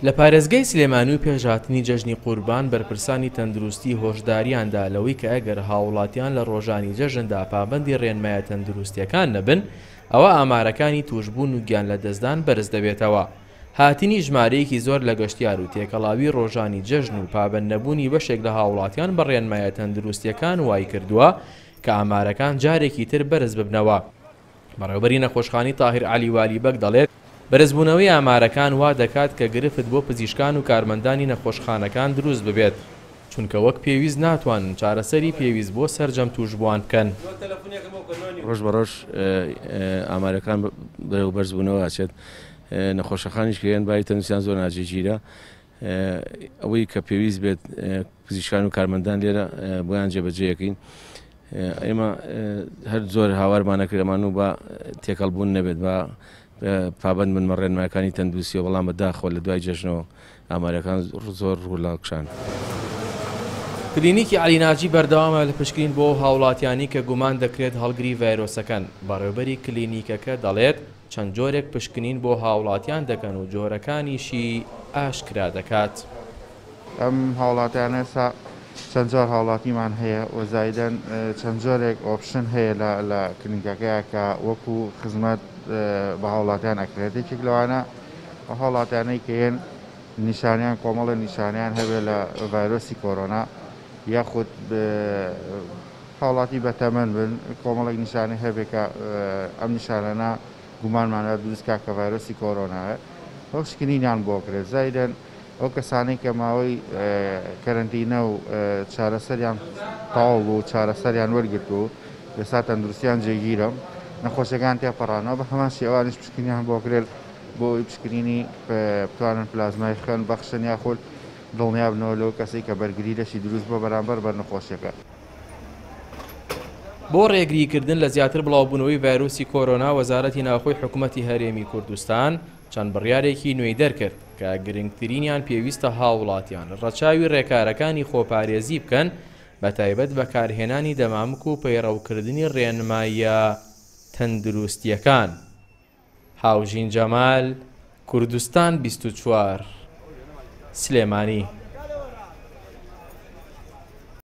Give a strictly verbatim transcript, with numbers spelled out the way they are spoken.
لە پارێزگای سلێمانی و پێش هاتنی جەژنی قوربان بەرپرسانی تەندروستی هۆشداریاندا لەوەی کە ئەگەر هاوڵاتیان لە ڕۆژانی جەژندا پابەندی ڕێنمایە تەندروستیەکان نەبن، ئەوە ئامارەکانی توشبوون و گیان لەدەستدان بەرز دەبێتەوە. هاتنی ژمارەیەکی زۆر لە گەشتیار و تێکەڵاوی ڕۆژانی جەژن و پابەند نەبوونی بەشێک لە هاوڵاتیان بە ڕێنمایە تەندروستیەکان وای کردووە کە ئامارەکان جارێکی تر بەرز ببنەوە. بەڕێوەبەری نەخۆشخانەی تاهیر عەلی والی بەگ دەڵێت بەرزبوونەوەی ئامارەکان وا دەکات کە گرفت بۆ پزیشکان و کارمەندانی نەخۆشخانەکان دروست ببێت، چونکە وەک پێویست ناتوانن چارەسەری پێویست بۆ سەرجەم توشبووان بکەن. ڕۆژ بە ڕۆژ ئامارەکان بەرەو بەرزبوونەوە ئەچێت، نەخۆشەخانیش کەیەن باری تەندروستیان زۆر ناجێگیرە. ئەوەی کە پێویست بێت پزیشکان و کارمەندان لێرە بۆیان جێبەجێیەکەین. ئێمە هەر زۆر هاوارمان نەکردەمان و با تێکەڵبوون نەبێت، با پابەند بن بە ڕێنمایەکانی تەندروستیەوە، بەڵام بەداخەوە لە دوای جەژنەوە ئامارەکان زۆر ڕوو لە کشان. کلینیکی عەلی ناجی بەردەوامە لە پشکنین بۆ هاوڵاتیانی کە گومان دەکرێت هەڵگری ڤایرۆسەکەن. بەڕێوەبەری کلینیکەکە دەڵێت چەند جۆرێک پشکنین بۆ هاوڵاتیان دەکەن و جۆرەکانیشی ئاشکرا دەکات. ئەم هاوڵاتیانە ئێستا چەند جۆر هاوڵاتیمان هەیە و زایدەن چەند جۆرێک option هەیە لە کلینیکەکەیە کە وەکو خزمەت بە هاوڵاتیان ئەکرێت. یەکێک لەوانە ئەو هاوڵاتیانەی کە یەن نیشانیان کۆمەڵە نیشانیان هەبێت لە ڤایرۆسی کۆرۆنا، یاخود هاوڵاتی بەتەمەن بن کۆمەڵێک نیشانەی هەبێت کە ئەم نیشانانە گومانمانە دروست کا کە ڤایرۆسی کۆرۆنایە، ئەو پشکنینیان بۆ کرێت. زایدەن ئەو کەسانەی کە ماوەی کەرەنتینە و چارەسەریان تەواو بوو، چارەسەریان وەرگرت و ئێستا تەندروستیان جێگیرە، نەخۆشیەکان تێپەڕانەوە، بە هەمان شێوانیش پشکنینیان بۆ کرێت بۆ ئەوەی پشکنینی بتوانن پلازمای خوێن بەخشن یاخود دڵنیا بنەوە لەو کەسەی کە بەرگری لەشی دروست بۆ بەرامبەر بەر نەخۆشیەکە. بۆ ڕێگریکردن لە زیاتر بڵاوبوونەوەی ڤایرۆسی کۆرۆنا، وەزارەتی ناوخۆی حکوومەتی هەرێمی کوردستان چەند بڕیارێکی نوێی دەرکرد کە گرنگترینیان پێویستە هاوڵاتیان ڕەچاوی ڕێکارەکانی خۆپارێزی بکەن، بە تایبەت بەکارهێنانی دەمامک و پەیڕەوکردنی ڕێنماییە تەندروستیەکان. هاوژین جەمال، کوردستان بیست و چوار، سلێمانی.